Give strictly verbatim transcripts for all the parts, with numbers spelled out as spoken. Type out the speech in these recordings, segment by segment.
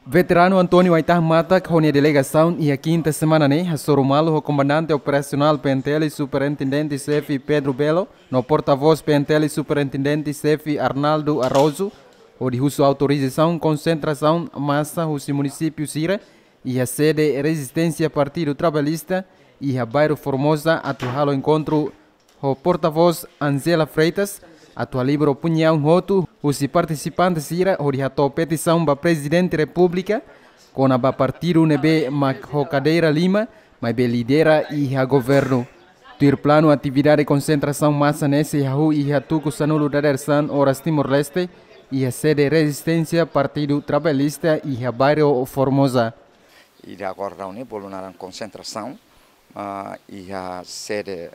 Veteranu António Aitah Matak ho nia delegasaun iha kinta semana ne'e hasoru malu ho Komandante Operasionál P N T L Superintendente Xefe Pedro Belo no Portavós P N T L Superintendente Xefe Arnaldo Araújo, hodi husu autorizasaun konsentrasaun masa husi munisípiu sira iha sede Rezisténsia Partidu Trabalhista iha bairru Formosa atu halo enkontru ho Portavós Angela Freitas atu halibur opiniaun hotu husi partisipante sira hodi hato'o petisaun ba Prezidente Repúblika kona-ba partidu ne'ebé mak ho kadeira lima, maibé lidera iha governu. Tuir planu, atividade konsentrasaun masa ne'e sei hahú iha tuku sanulu dadeer-saan oras Timor-Leste iha sede Rezisténsia Partidu Trabalhista iha bairru Formosa. Ida agora daudaun ne'e bolu naran konsentrasaun, ah, iha sede,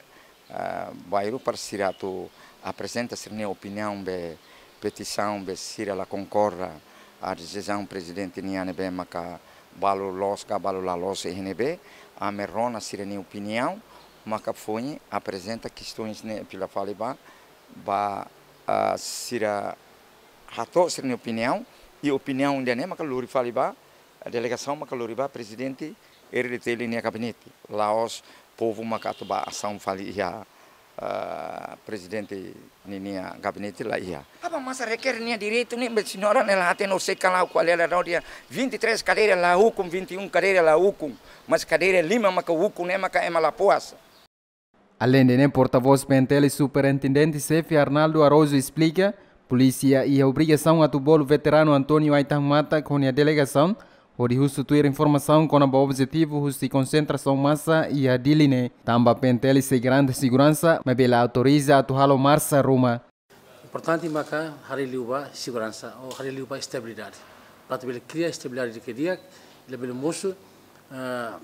ah, bairru para sira atu aprezenta sira-nia opiniaun be petisaun be sira la konkorda a desizaun prezidente nian ne'ebé maka balu loos ka balu la loos iha ne'ebé, ami rona sira-nia opiniaun, maka foin aprezenta kestoens ne'e fila fali ba, ba, ah, sira hato'o sira-nia opiniaun, i opiniaun ida-ne'e maka lori fali ba delegasaun maka lori ba Prezidente R D T L nia gabinete. La'ós povu maka atu ba asaun fali iha, ah, Prezidente ninia gabinete, la iha. Aban masa rekere nia direitu ne'e, be señora ne'e la hatene, ou sei ka lae, kual é a razão dia vinte e três kadeira la ukun, vinte e um kadeira la ukun, mas kadeira lima maka ukun ne'e maka ema la puas. Aleinde ne'e, portavós P N T L Superintendente Xefe Arnaldo Araújo esplika, polísia iha obrigasaun atu bolu veteranu António Aitah Matak ho nia delegasaun hodi husu tuir informasaun kona-ba objetivu husi konsentrasaun masa iha Dili ne'e. Tanba P N T L sei garante seguransa, maibé la autoriza atu halo marsa ruma. Importante maka haree liu ba seguransa, ou haree liu ba estabilidade. Para atu bele kria estabilidade di'ak, labele mosu, ah,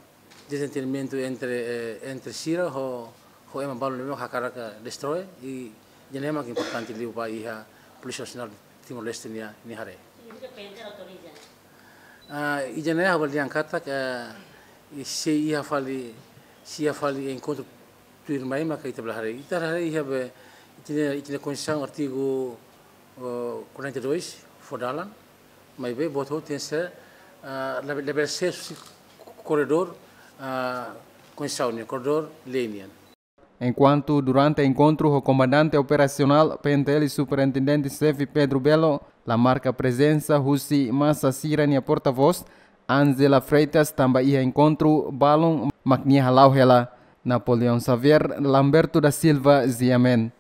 dezentendimentu entre, eh, entre sira ho, ho ema balu ne'ebé hakarak destrói, i ida-ne'e mak importante liu ba iha Polísia Nasionál Timor-Leste nia, nia haree. Significa P N T L autoriza? Ah, ida-ne'e ha'u bele dehan katak, eh, i se iha fali, se iha fali enkontru tuirmai maka ita bele haree. Ita haree iha be, ita-nia, ita-nia Konstituisaun artigu, eh, quarenta e dois fó dalan, maibé buat hotu tenke ser, ah, labele, labele ser husi koridór, ah, Konstituisaun nian, koridór lei nian. Enkuantu durante enkontru ho Komandante Operasionál P N T L Superintendente Xefe Pedro Belo la marka prezensa husi masa sira-nia portavós Angela Freitas tanba iha enkontru balun mak nia hala'o hela. Napoleão Xavier, Lamberto da Silva, G M N.